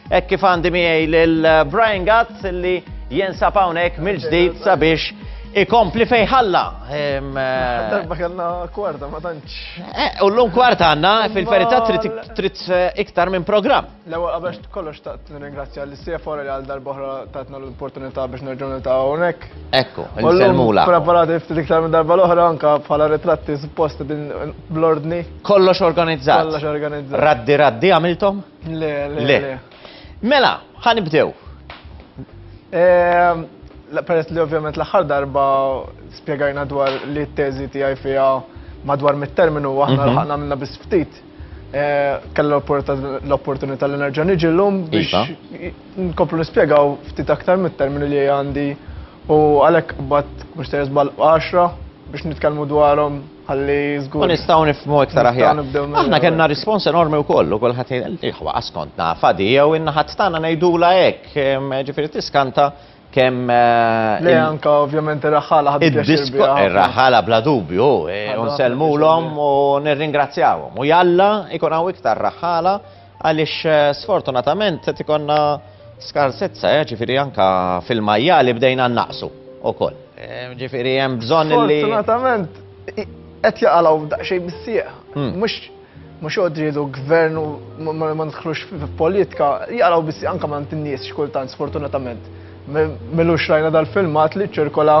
Hekk kif għandi miegħi lil Brian Gatt li jinsab hawnhekk mill-ġdid sabiex ikompli fejn ħalla. Eh, Darba kellna kwarta ma tantx. Eh, u llum kwarta għandna fil-verità trid eh, iktar minn programm. L-ewwel qabel kollox taqt nirringrazzja l CFO li għal darba oħra tatna l-opportunità biex nerġgħu niltaqgħu hawnhekk. Ekku, il-selmula. Preparati ftit iktar minn darba l-oħra anka bħala ritratti suppost din bl-ordni. Kollox organizzat. Kollox organizzat. Raddi raddi għamiltom? Le, le, le. Mela, ħa nibdew. Ehm, peress li ovvjament l-aħħar darba spjegajna dwar li t-teżi tiegħi fiha madwar mit-terminu aħna mhm. l-ħakna minna biss ftit. Eh, Kellu l-opportunità li nerġa' niġi llum biex iva. nkomplu nispjegaw ftit aktar mit-terminu li għandi u għalhekk bat mhux se żball 10 biex nitkellmu dwarhom ħalli żgur. U nistgħu nifhmu iktar aħjar. Aħna kellna rispons enormi wkoll u kulħadd jgħid iħwa skont nafa di jew in-naħat tagħna ngħidula hekk, ġifieri tiskanta kemm. Eh, Le anka ovvjament ir-raħħala ħadu Ir-raħħala bla dubju, eh, u nsellmulhom u nirringrazzjawhom. U jalla ikun hawn iktar raħħala għaliex eh, sfortunatament qed ikonna skarsezza, ġifieri anka fil-majjali bdejna naqsu ukoll. Ġifieri hemm bżonn li. Sfortunatament qed jaqalgħu daqsxejn bis-sieq. Hmm. Mhux mhux joqgħod jgħidu gvern u ma nidħlux f'politika, jaqalgħu bis anke ma in-nies xkultant sfortunatament. Milux rajna dal-filmat li ċirkola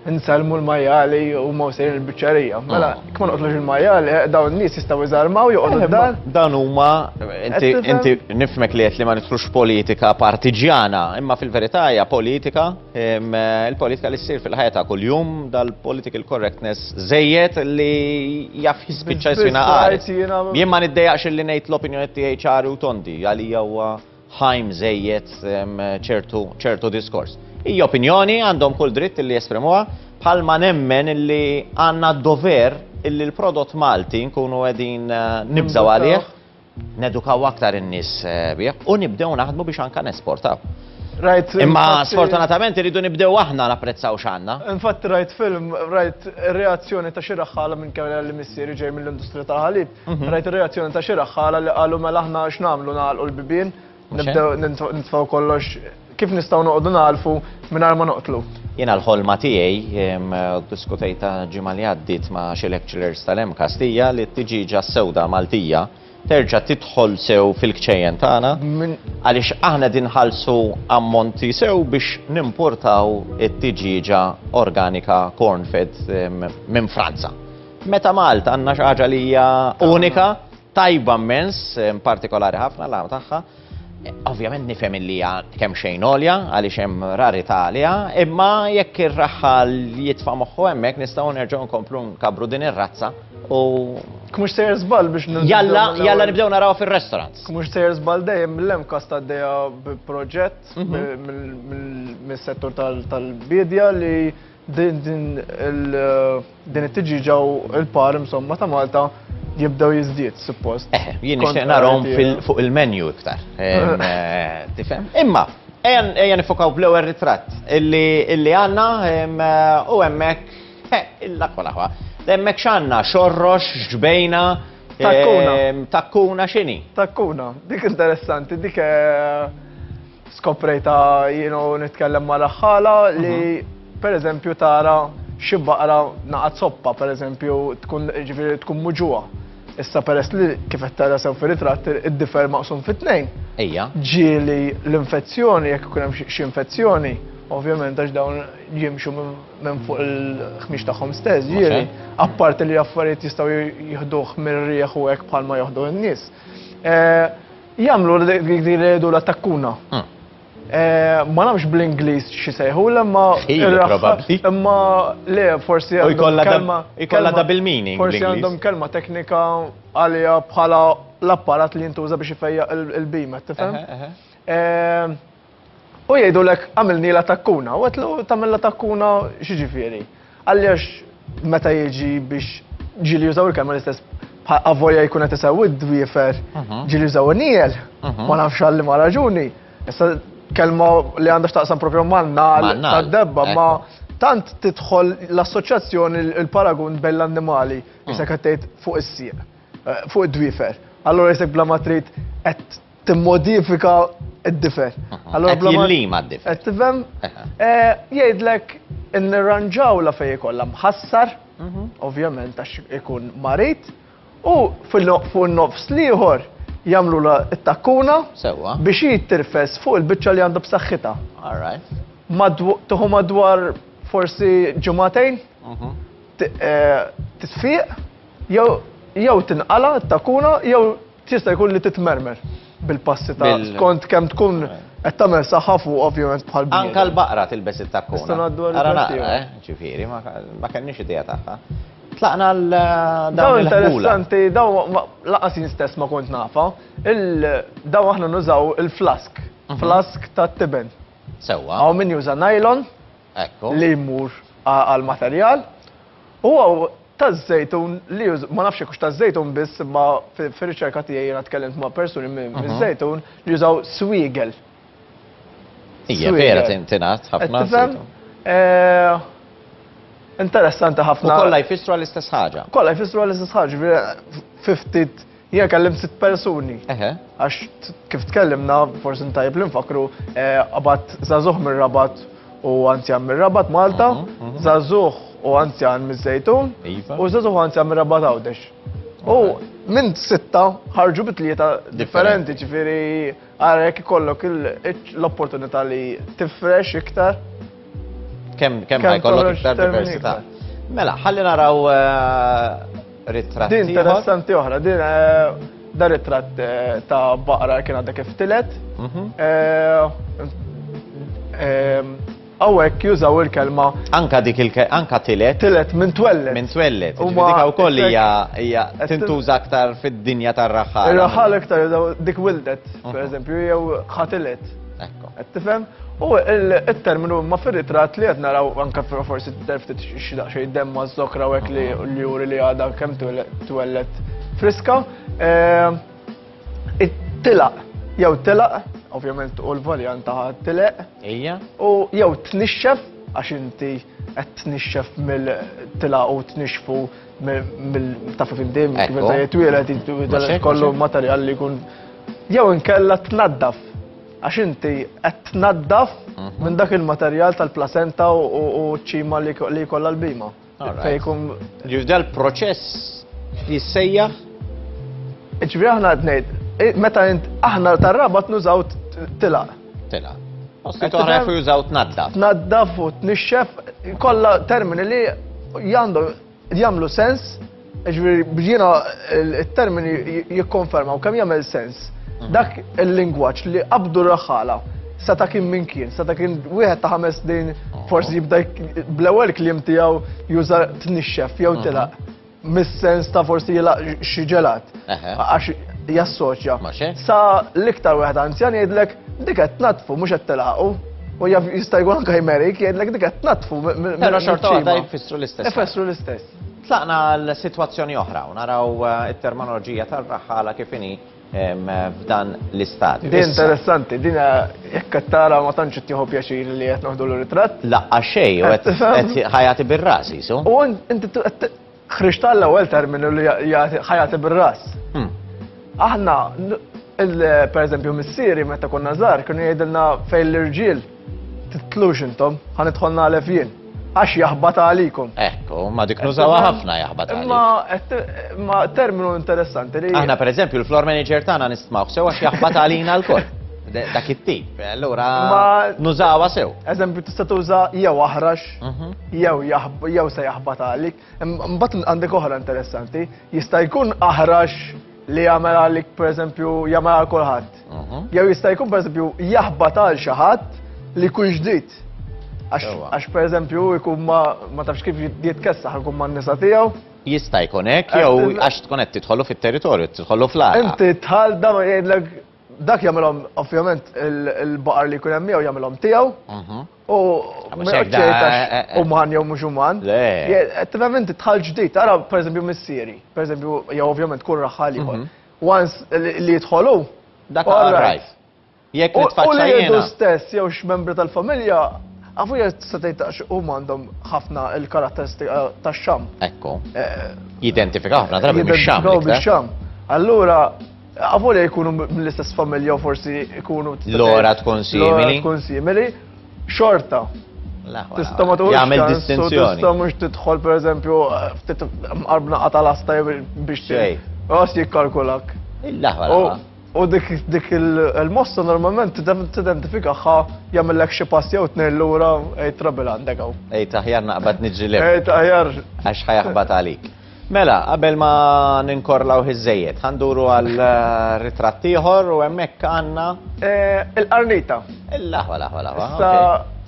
nsellmu l-majjali u ma sejrin il-biċċerija. Mela, ah. kif ma noqtlux il-majjali, eh, dawn n-nies jistgħu jżarmaw joqogħdu eh, dar. Dan huma inti nifmek li qed li ma nidħlux politika partiġjana, imma fil-verità hija politika Il-politika li ssir fil-ħajja ta' kuljum dal-political correctness żejjed li jaf jispiċċa jiswina qares. Jien ma niddejjaqx li ngħid l-opinjoni tiegħi ċari u tondi għalija huwa ħajm żejjed ċertu ċertu diskors. Hija opinjoni għandhom kull dritt li jesprimuha bħalma nemmen li għandna d-dover illi l-prodott Malti nkunu qegħdin eh, nibżgħu għalih nedukaw aktar in-nies eh, bih u nibdew naħdmu biex anka nesportaw. Rajt. Imma sfortunatament irridu nibdew aħna napprezzaw x'għandna. Infatti rajt film, rajt reazzjoni ta' xi raħħala minn kemm li missieri ġej mill-industrija tal-ħalib, mhm. rajt reazzjoni ta' xi raħħala li qalu mela aħna x'nagħmlu nagħlqu l-bibien, nibdew nitfgħu kollox kif nistgħu noqogħdu nagħlfu mingħajr ma noqtlu. Jiena l-ħolma tiegħi diskutejta ġimgħa li għaddiet ma' xi lecturers tal-MCAST hija li t-tiġieġa s-sewda Maltija terġa' tidħol sew fil-kċejjen tagħna għaliex aħna qegħdin nħallsu ammonti sew biex nimportaw it-tiġieġa organika corn-fed minn Franza. Meta Malta għandna xi ħaġa li hija unika, tajba mmens, partikolari ħafna l tagħha. Ovvjament nifhem illi hija kemm xejn għolja għaliex hemm rarità għaliha, imma jekk ir-raħħal jitfa' moħħu hemmhekk nistgħu nerġgħu nkomplu nkabbru din ir-razza u Mhux sejjer żball biex Jalla, jalla nibdew naraw fir-restaurants. Mhux sejjer żball dejjem l-MCAST għaddejja bi proġett mhm. mis-settur tal-bidja li Din din it-tiġiġa u l-par insomma ta' Malta jibdew jiżdied suppost. Eh, jien nixtieq narhom fuq il-menu iktar. Eh, tifhem? Imma, ejja nifokaw bl-ewwel ritratt illi għandna eh, u hemmhekk eh, il-lakwa laħwa. Hemmhekk x'għandna xorrox, ġbejna, Takkuna. Takkuna x'inhi? Takkuna, dik interessanti, dik Skoprejta jienu nitkellem ma' raħħala li mhm. per eżempju tara xi baqra naqat soppa per eżempju tkun ġifieri tkun muġuha. Issa peress li kif qed tara sew fir-ritratt id-difer maqsum fit-tnejn. Ejja. Ġieli l-infezzjoni jekk ikun hemm xi infezzjoni, ovvjament għax dawn jimxu minn fuq il-ħmiex tagħhom stess, ġieli, apparti li affarijiet jistgħu jieħduh mir-rieħ u hekk bħalma joħdu n-nies. Eh, Jagħmlu dik li jgħidu la takkuna. Hmm. Eh, ma nafx bl-Ingliż xi sejħu imma imma le forsi għandhom kelma double meaning. Forsi għandhom kelma teknika għalija bħala l-apparat li jintuża biex ifejjaq il-bima, tifhem? Eh, U jgħidulek għamilni la takkuna, u għedtlu tagħmel la takkuna x'jiġifieri? Għaliex meta jiġi biex ġieli jużaw il-kelma l-istess avolja jkun qed isewwi d-dwiefer, mhm. ġieli jużaw niel, mhm. ma nafx għal ma raġuni. Issa kelma li għandha x'taqsam propju man-nal tad-debba, ma tant tidħol l-assoċjazzjoni il-paragun bejn l-annimali, issa qed tgħid fuq is-sieq, eh, fuq id-dwiefer. Allura jisek bla ma trid qed timmodifika. id-difer. Allora Qed jillima d-difer. Qed tifhem? Eh, jgħidlek nirranġawla fejn ikollha mħassar, mhm. ovvjament għax ikun marit, u fuq nofs liħor jagħmlu la t-takkuna biex jittirfes fuq il-biċċa li għandu b'saħħitha. All right. Tuħu madwar forsi ġimagħtejn, mhm. eh, titfiq, jew jew tinqala t-takuna jew Tista' jkun li titmermer bil-passi ta' skont kemm tkun qed tagħmel saħħa fuq ovvjament bħal bniedem. Anka l-baqra tilbes it-takkuna. Nistgħu ngħaddu għal Ara naqra, eh, ġifieri, ma kellniex idea tagħha. Tlaqna l dawn interessanti, dawn laqas jien stess ma kont nafa. Dawn aħna nużaw il-flask, mhm. flask tat-tiben. Sewwa. Hawn min juża nylon li jmur għal-materjal. U Taż-żejtun li już, ma nafx jekk hux taż-żejtun biss, imma fir-riċerka tiegħi jiena tkellimt ma' persuni mhm. miż-żejtun li jużaw swiegel. Hija vera tingħad ħafna. Eh, interessanti ħafna. U kollha jfissru għall-istess ħaġa. Kollha jfissru għall-istess ħaġa, fiftit Jien kellimt sitt persuni. Għax kif tkellimna, forsi ntajb li nfakru, eh, qabat żagħżugħ mir-Rabat u anzjan mir-Rabat Malta, mhm, mhm. żagħżugħ u anzjan miż-Żejtun, iva. u żagħżugħ u anzjan mir-Rabat Għawdex. U minn sitta ħarġu bi tlieta differenti, ġifieri Ara jekk ikollok l-opportunità li tifrex iktar. Kemm kemm ħajkollok iktar diversità. Mela, ħalli naraw eh, ritratt. Din interessanti oħra, din eh, da ritratt eh, ta' baqra kien għadha kif tilet. Mhm. Hawnhekk jużaw il-kelma. Anka dik il anka tilet. Tilet minn twellet. Minn twellet. Huma dik wkoll hija hija tintuża aktar fid-dinja tar-raħħal. Ir-raħħal iktar jużaw dik wildet, mhm. pereżempju, jew ħatilet. Ekku. Qed tifhem? U il-terminu ma fir-ritratt li qed naraw anka forsi ftit xi daqsxejn demm ma' żokra u hekk li mhm. juri li għadha kemm twellet friska. Eh, Tilaq, jew telaq, ovvjament u l-varjant ta' tileq. Ija. U jew tnixxef, għax inti qed tnixxef mill-tilaq u tnixxfu mill taf kif inti kif meta jitwieled kollu materjal li jkun jew inkella tnaddaf għax inti qed tnaddaf mhm. minn dak il-materjal tal-plasenta u ċ-ċima li jkollha l-bima. Fejn jkun. Ġifieri dal-proċess jissejjaħ? Ġifieri aħna qed ngħid, eh, meta int aħna tar-rabat nużaw tilaq. Tilaq. Posti oħra jafu jużaw tnaddaf. Tnaddaf u tnixxef, kollha termini li għandhom jagħmlu sens, ġifieri jiena il-termini jikkonfermaw kemm jagħmel sens. Mhm. Dak il-lingwaġġ li qabdu raħala seta' kien min kien, seta' kien wieħed ta' ħames snin forsi jibda bl-ewwel kliem tiegħu juża tnixxef jew mhm. tilaq mis-sens ta' forsi jilaq xi ġelat. Għax jassoċja. Sa l-iktar wieħed anzjan jgħidlek dik qed tnatfu mhux qed tilaqu. U jaf jista' jkun anke jmerik jgħidlek dik qed tnatfu. Però xorta waħda jfissru l-istess. Ifissru l-istess. Tlaqna għal sitwazzjoni oħra u naraw eh, it-terminoloġija tal-raħħala kif inhi f'dan l-istadju. Din interessanti, din eh, jekk qed tara ma tantx qed tieħu pjaċir li qed noħdu l-ritratt. Laqqa xejn u qed ħajati bir-ras jisu. U inti ħriġt għall-ewwel terminu li ħajati bir-ras. Hmm. Aħna per eżempju missieri meta konna żgħar kienu jgħidilna fejn l-irġiel Titlux intom, ħa nidħol nagħlef jien. Għax jaħbat għalikom. Ekku, ma dik nużawha ħafna jaħbat għalik. Imma terminu interessanti li. Aħna pereżempju l-floor manager tagħna nistmawh sew għax jaħbat għalina lkoll. Dak it-tip, allura nużawha sew. Eżempju tista' tuża jew aħrax, mhm. jew jew se jaħbat għalik. Mbagħad għandek oħra interessanti, jista' jkun aħrax li jagħmel għalik pereżempju jagħmel għal kulħadd. Mhm. Jew jista' jkun pereżempju jaħbat għal xi ħadd li jkun ġdid. Għax pereżempju jkun ma tafx kif jitkessaħ ikun man-nisa tiegħu. Jista' jkun hekk jew għax tkun qed tidħolu fit-territorju, tidħolu fl-għalqa. Inti tħal dan jgħidlek dak jagħmilhom ovvjament il-baqar li jkun hemm miegħu jagħmilhom tiegħu. Mhm. U uman jew mhux uman. Tifhem inti tħal ġdid, ara pereżempju missieri, pereżempju jew ovvjament kull raħal ieħor. Mhm. Once li jidħolu. Dak right. Jekk nitfaċċa jiena. U stess jew x'membri tal-familja Għafu jgħid tista' tgħid għax huma għandhom ħafna il-karatteristika tax-xam. Ekku. Eh, Jidentifikaw ħafna drabi bix-xam. Bix-xam. Allura. Avolja jkunu mill-istess familja u forsi jkunu. L-ora tkun simili. L-ora tkun simili, xorta. Tista' ma tuħux. Jagħmel distinzjoni. Tista' mhux tidħol pereżempju ftit mqarbna qata lasta biex Xej. Għas jikkalkulak. Il-laħwa. U dik dik il-mossa normalment tidentifikaha jagħmellek xi pass jew tnejn lura ej trabil għandek hawn. Ej taħjar naqbad niġri lem. Ej taħjar. Għax ħajaħbat għalik. Mela, qabel ma ninkorlaw iż-żejjed, ħanduru għal eh, ritratt ieħor u hemmhekk għandna eh, il-qarnita. Il-laħwa, laħwa, laħwa. Issa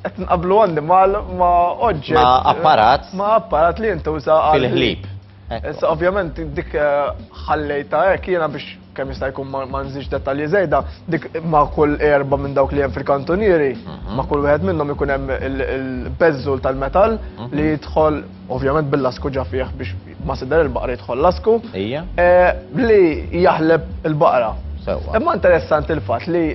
qed nqablu annimal ma' oġġett. Ma' apparat. Ma' apparat li jintuża fil-ħlib. Issa ovvjament dik eh, ħallejta hekk jiena biex kemm jista' jkun ma nżidx dettalji żejda, dik ma' kull erba' minn dawk li hemm fil-kantunieri, mhm. ma' kull wieħed minnhom ikun hemm il-beżżul tal-metall mhm. li jidħol ovvjament bil-lasku ġa fih biex ma sider il-baqra jidħol lasku. Ija. Eh, li jaħleb il-baqra. Imma interessanti il-fatt li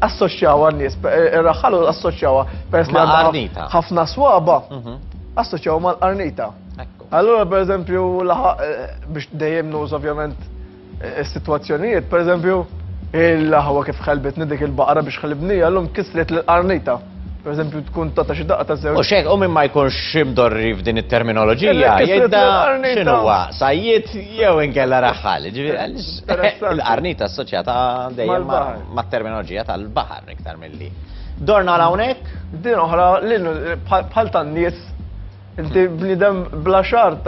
assoċjawa n-nies, eh, ir-raħħalu assoċjawa peress li ħafna swaba, mhm. assoċjawa mal-qarnita. Allura, per eżempju, eh, biex dejjem nuż ovvjament eh, is-sitwazzjonijiet, per eżempju, il-ħawa kif ħelbitni dik il-baqra biex ħelibni, għallum kisret l-qarnita. Per eżempju, tkun tata xi daqqa ta' żewġ. U xek, u minn ma jkunx imdorri f'din it-terminoloġija, jgħidda x'inhuwa, sajjiet jew inkella raħħal. Il-qarnita assoċjata dejjem mat-terminoloġija tal-baħar iktar milli. Dorna l hawnhekk? Din oħra, bħal tan-nies Inti bniedem bla xar,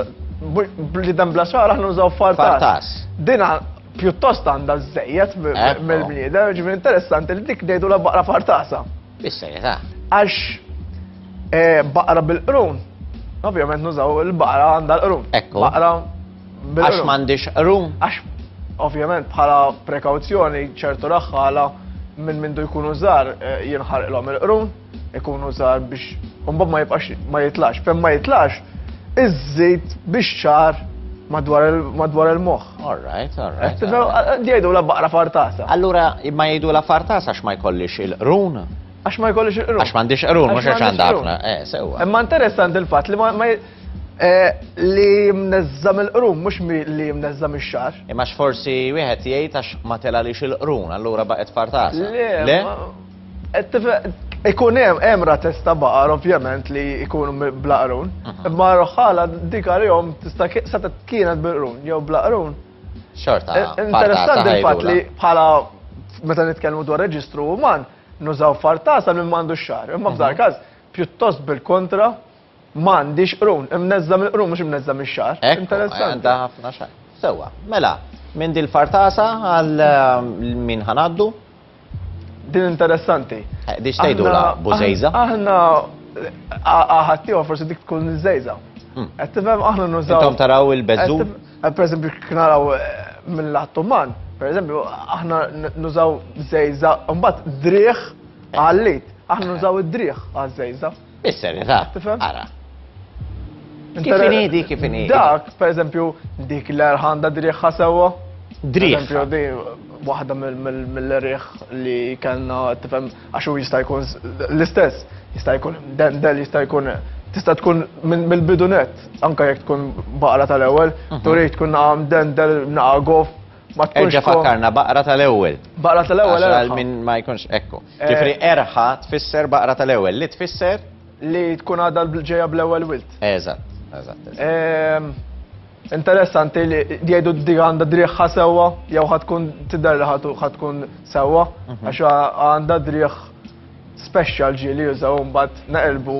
bniedem bla xar aħna nużaw fartas. Fartas. Dina pjuttost għandha żejjed mill-bniedem, ġifieri interessanti li dik ngħidu la baqra fartasa. Bis-serjetà. Għax eh, baqra bil-qrun, ovvjament nużaw il-baqra għandha l-qrun. Ekku. Baqra bil-qrun. Għax m'għandix qrun. Għax ovvjament bħala prekawzjoni ċertu raħħala minn mindu jkunu żgħar eh, jinħarqlhom il-qrun. ikunu żgħar biex mbagħad ma jibqax ma jitlax. Fejn ma jitlax, iżżid biex ċar madwar il-moħħ. All right, all right. Jgħidu la baqra fartasa. Allura ma jgħidu la fartasa għax ma jkollix il-qrun? Għax ma jkollix il-qrun. Għax m'għandix qrun, mhux għax għandha ħafna. Eh, sewwa. Imma interessanti il-fatt li ma eh, li mneżżam il-qrun, mhux li mneżżam ix-xar. Imma forsi wieħed jgħid għax ma telalix il-qrun, allura baqgħet fartasa. Le? Ikun hemm hemm rates ta' baqar ovvjament li jkunu bla qrun. Mhm. Imma roħħala dik għalihom tista' seta' kienet bil-qrun jew bla qrun. Xorta. Eh, interessanti il-fatt li bħala meta nitkellmu dwar reġistru uman nużaw fartasa minn m'għandu xar. Imma f'dar mhm. każ pjuttost bil-kontra m'għandix qrun, imneżża mill-qrun mhux imneżża mix-xar. Interessanti. Għandha ħafna xar. Sewwa, mela, minn dil-fartasa għal eh, min ħanaddu? Din interessanti. Eh, di xtejdu la bużejza? Aħna ħaddieħor forsi dik tkun żejza. Hmm. Qed tifhem aħna nużaw. Intom taraw il-beżu? Eh, per eżempju, naraw eh, mill-Ottoman, per eżempju, aħna nużaw żejza, mbagħad driħ għallit. Aħna nużaw id-driħ għaż-żejza. Bis-serjetà. Tifhem? Ara. Kif inhi dik kif inhi? Dak, per eżempju, dik l-erħan da driħħa sewwa. Driħ. Eżempju, di waħda mill-riħ li kellna tifhem għax hu jista' jkun l-istess, jista' jkun dendel, jista' jkun tista' tkun mill-bidunet, anka jekk tkun baqra tal-ewwel, mhm. turik tkun naqam dendel, naqa gof, ma tkunx. Erġa' fakkarna baqra tal-ewwel. Baqra tal-ewwel. Għal min ma jkunx ekku. Eh. Ġifri erħa tfisser baqra tal-ewwel, li tfisser? Li tkun għadha ġejja bl-ewwel wilt. Eżatt, eżatt. Ehm, interessanti li jgħidu dik għandha driħħa sewwa jew ħatkun tidher li ħatkun sewwa mhm. għax għandha driħ special ġieli jużaw mbagħad naqilbu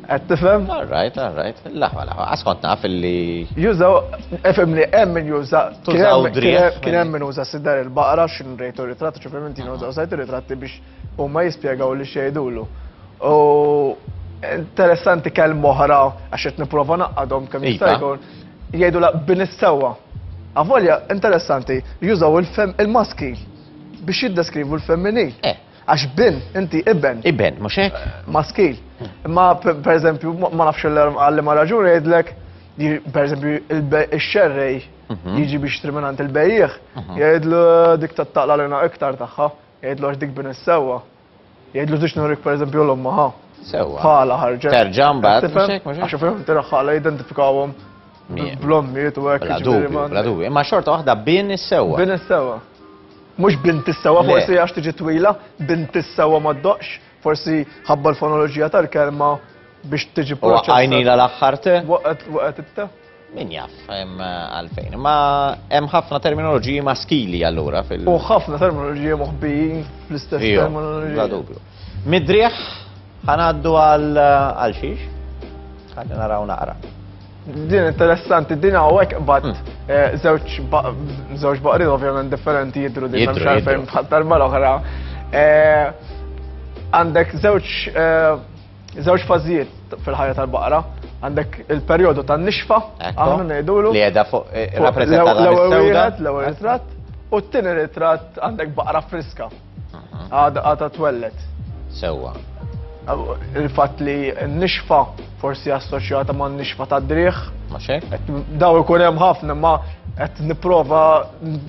qed tifhem? All right, all right. Laħwa, laħwa. Għas kont naf illi. Jużaw, efhem li hemm min juża. Tużaw driħ. Kien hemm min uża sidar il-baqra x'in rejtu ritratti, ċifri minn użaw sajt ritratti biex huma jispjegaw li xejdulu. U interessanti kelma oħra għax qed nipprova naqadhom kemm jista' iva. jkun. Jgħidu la bin is-sewwa. Avolja interessanti jużaw il-maskil biex jiddeskrivu l-femminil. Eh. Għax bin, inti iben. Iben, mhux hekk? Eh, maskil. Imma per eżempju, ma nafx għalli ma raġuni jgħidlek, per eżempju, il-xerrej mhm. jiġi biex triminant il-bejjiegħ, mhm. jgħidlu dik tattaqla l iktar tagħha. Jgħidlu għax dik bin is-sewwa. Jgħidlu tix nurik pereżempju l-omma ħa. Sewwa. Ħala ħarġet. Terġa' mbagħad. Mhux hekk, mhux hekk. Għax fihom tiraħħala jidentifikawhom. Bl-ommijiet u hekk. Bla dubju, bla dubju. Imma xorta waħda bin is-sewwa. Bin is-sewwa. Mhux bint is-sewwa forsi għax tiġi twila, bint is-sewwa ma ddoqx, forsi ħabba l-fonoloġija tal-kelma biex tiġi proċessata. Għajnila l-aħħar te? Waqgħet it-te. Min jaf għalfejn. Ma hemm ħafna terminoloġiji maskili allura fil- U ħafna terminoloġiji moħbijin fl-istess terminoloġija. Bla dubju. Midrieħ ħanaddu għal xiex? Ħalli naraw naqra. Din interessanti, din hawnhekk bat hmm. eh, żewġ baqrin ovvjament differenti jidru din m'hemmx għalfejn bħal darba l-oħra. Eh, għandek żewġ eh, żewġ fażijiet fil-ħajja tal-baqra. Għandek il-perjodu tan-nixfa, aħna ngħidulu. Li qiegħda fuq rappreżentata l-ewwel wieħed, l-ewwel ritratt, u t-tieni ritratt għandek baqra friska. Għada twellet. Sewwa. Il-fatt li n-nixfa forsi assoċjata ma' nixfa ta' driħ. Ma xek? Daw ikun hemm ħafna ma qed nipprova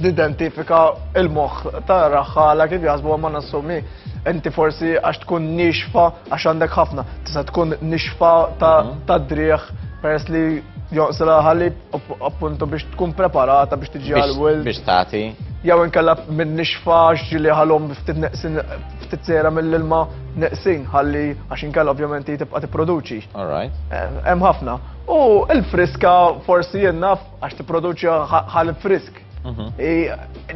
nidentifika il-moħħ ta' raħħala kif jaħsbu ma nassumi. Inti forsi għax tkun nixfa għax għandek ħafna, tista' tkun nixfa ta' mhm. driħ peress li jonqsilha ħalib appuntu biex tkun preparata biex tiġi għal-wild. Biex tagħti. Jew inkella minn nixfa ġili ħalhom ftit neqsin ftit sejra mill-ilma neqsin ħalli għax inkella ovvjament hi tibqa' tipproduċi. All right. Eh, hemm ħafna. U l-friska forsi jien naf għax tipproduċi ħalib frisk. Mhm.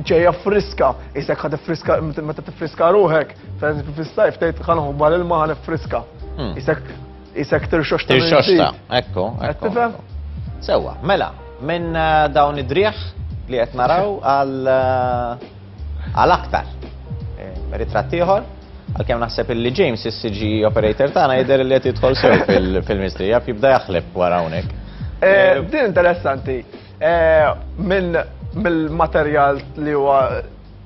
Ġejja friska, jisek ħad friska meta tifriska ruħek, fis-sajf tgħid ħanħu bħal-ilma ħan friska. Hmm. Isek Isek tirxoxta. Tirxoxta, ekku, ekku. Sewa, mela, minn eh, dawn id-driħ li qed naraw għal eh, għal aktar. Eh, ritratt ieħor, għalkemm naħseb illi James is-CG operator tagħna jidher li qed jidħol sew fil-mistrija jibda jaħlef wara hawnhekk. Din interessanti. Minn mill-materjal li huwa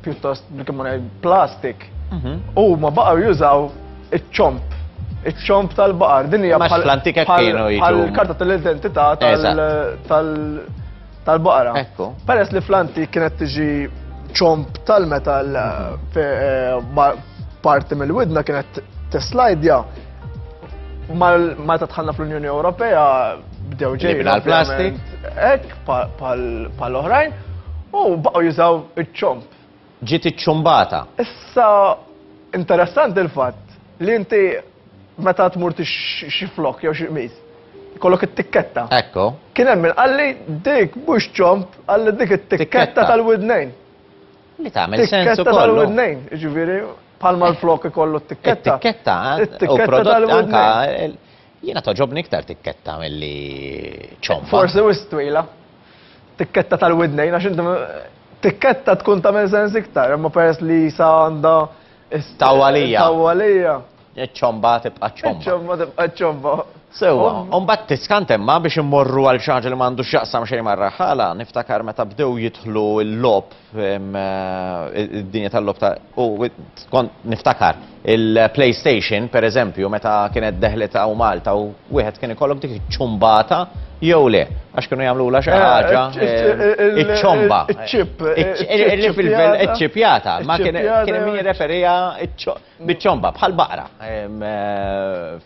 pjuttost bil-kemm ngħid plastik. Mhm. U ma baqgħu jużaw iċ-ċomp. Iċ-ċomp tal-baqar. Din hija bħal fl-antika kienu jiġu. Bħal karta tal-identità tal-baqra. Ekku. Peress li fl-antik kienet tiġi ċomp tal-metal mhm. eh, parti mill-widna kienet teslajdja Meta tħallna fl-Unjoni Ewropea bdew ġej. L-plastik. Ek, pal oħrajn, u baqgħu jużaw iċ-ċomp. Ġiet iċ-ċumbata. Issa, interessanti il-fatt li inti meta tmur xi flok jew xi qmis, kollok it-tikketta. Ekku. Kien hemm min qalli dik mhux ċomp, qalli dik it-tikketta tal-widnejn. Li tagħmel sens ukoll. Tikketta tal-widnejn, jiġifieri bħalma l-flok ikollu t-tikketta. It-tikketta, u prodott anka jiena toġobni iktar tikketta milli ċomba. Forsi wis twila. Tikketta tal-widnejn għax inti tikketta tkun tagħmel sens iktar, imma peress li sa għandha Tawwalija. Tawwalija. Iċ-ċomba tibqa' ċomba. Iċ-ċomba tibqa' ċomba. Sewwa, u mbagħad tiskant imma biex immorru għal xi ħaġa li m'għandu x'jaqsam xejn mar-raħħala, niftakar meta bdew jidħlu l-logħob id-dinja tal-logħob ta' u kont niftakar il-PlayStation pereżempju meta kienet deħlet hawn Malta u wieħed kien ikollok dik iċ-ċumbata jew le, għax kienu jagħmlulha xi ħaġa iċ-ċomba. Iċ-ċip. Iċ-ċipjata, ma kien min jirreferiha Biċ-ċomba, bħal baqra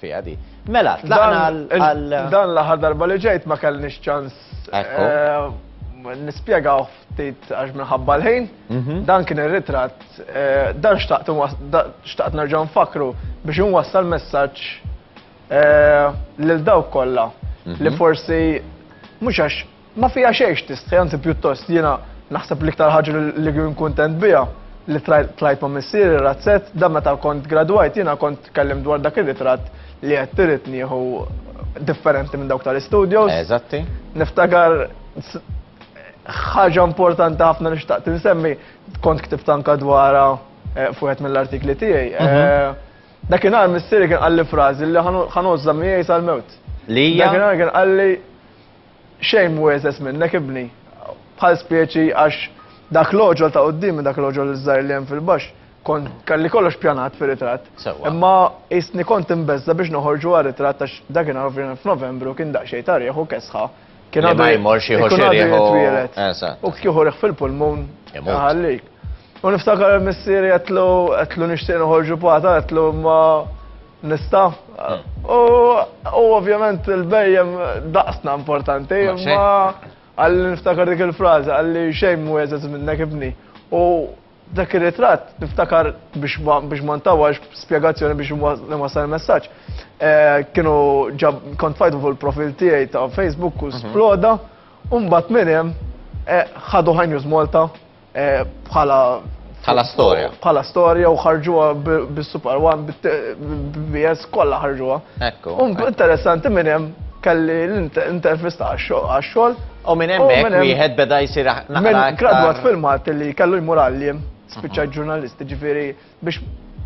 fiha di. Mela, tlaqna għal. Dan l-aħħar darba li ġejt ma kellniex ċans nispjegaw ftit għax minħabba l-ħin. Mhm. Dan kien ir-ritratt, dan xtaqt xtaqt nerġa' nfakru biex inwassal messaġġ lil dawk kollha li mhm. forsi mhux għax Ma fiha xejn x'tistħi, anzi pjuttost jiena naħseb l-iktar ħaġa li kien kuntent biha li tlajt ma' missieri razzett, dan meta kont gradwajt jiena kont tkellimt dwar dak ir-ritratt li għedt irrid nieħu differenti minn dawk tal-istudios. Eżatti. Niftakar ħaġa importanti ħafna li xtaqt insemmi, kont ktibt anka dwarha eh, fuq mill-artikli tiegħi. Mhm. Eh, dakinhar missieri kien qalli frażi li ħanożża miegħi sal-mewt. Li hija? Dakinhar kien qalli Xejn mhu eżeż minnek ibni. Bħal speċi għax dak l-għoġol ta' quddiemi, dak l-għoġol iż-żgħir li hemm fil-baxx, kont kelli kollox pjanat fir-ritratt. Sewwa. Imma qisni kont imbeżża' biex noħorġu għar-ritratt għax dakinhar ovvjament f'Novembru kien daqsxejn ta' riħ u kesħa. Kien Li għadu ma jmorx jieħu ikun xi għadu riħ u- jitwieled. Eżatt. U kieku riħ fil-pulmun Imut. iħallik. U niftakar missieri għedtlu għedtlu nixtieq noħorġu pata, għedtlu imma nista'. U ovvjament il-bejjem daqsna importanti, imma għalli niftakar dik il-frażi, għalli xejn mu jeżez minnek ibni. U dak ir-ritratt niftakar biex ma ntawax spjegazzjoni biex nwassal il-messaġġ. Eh, kienu ġab kont fajtu fuq il-profil tiegħi ta' Facebook u mhm. sploda, u mbagħad minn hemm eh, ħadu High News Malta eh, bħala Bħala storja. Bħala storja u ħarġuha bis-Super One, bil-BS kollha ħarġuha. Ekku. U interessanti minn hemm kelli l-intervista għax-xogħol. U minn hemmhekk wieħed beda jsir naqra. Gradwat fil-Malti li kellu jmur għalliem, spiċċa mhm. ġurnalist, ġifieri biex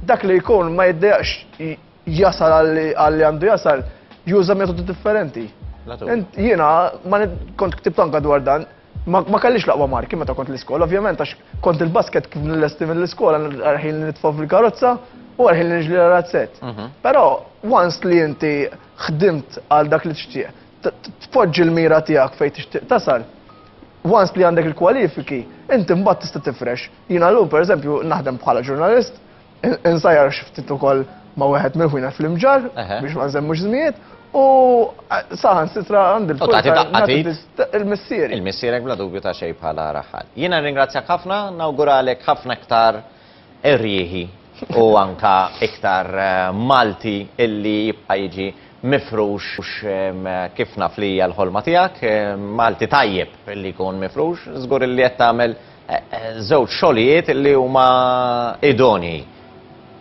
dak li jkun ma jiddejaqx jasal għalli għandu jasal, juża metodi differenti. Jiena ma kont ktibt anka dwar dan, Ma kellix l-aqwa marki meta kont l-iskola, ovvjament għax kont il-basket kif nillesti mill-iskola għarħin li nitfa' fil-karozza u għarħin li niġli razzett. Mhm. Però once li inti ħdimt għal dak li tixtieq, tpoġġi l-mira tiegħek fejn tixtieq tasal, once li għandek il-kwalifiki, inti mbagħad tista' tifrex. Jiena llum pereżempju naħdem bħala ġurnalist, Insajjar xi ftit ukoll ma' wieħed mill-ħwienet fl-Imġarr biex ma nżemmux żmijiet u saħansitra għandi il-missieri. Il-missierek bla dubju ta' xejn bħala raħħal. Jiena nirringrazzjak ħafna, nawguralek ħafna iktar errieħi u anka iktar Malti illi jibqa' jiġi mifrux kif naf li hija l-ħolma tiegħek, Malti tajjeb illi jkun mifrux, żgur illi qed tagħmel Żewġ xogħlijiet li huma idonei.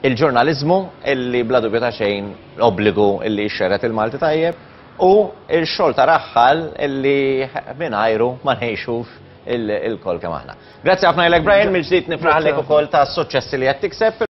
Il-ġurnaliżmu illi bla dubju ta' xejn obbligu illi jxerred il-Malti tajjeb u x-xogħol ta' raħħal illi mingħajru ma ngħixux ilkoll kemm aħna. Grazzi ħafna lilek Brian, mill-ġdid nifraħlek ukoll tas-suċċessi li qed tikseb.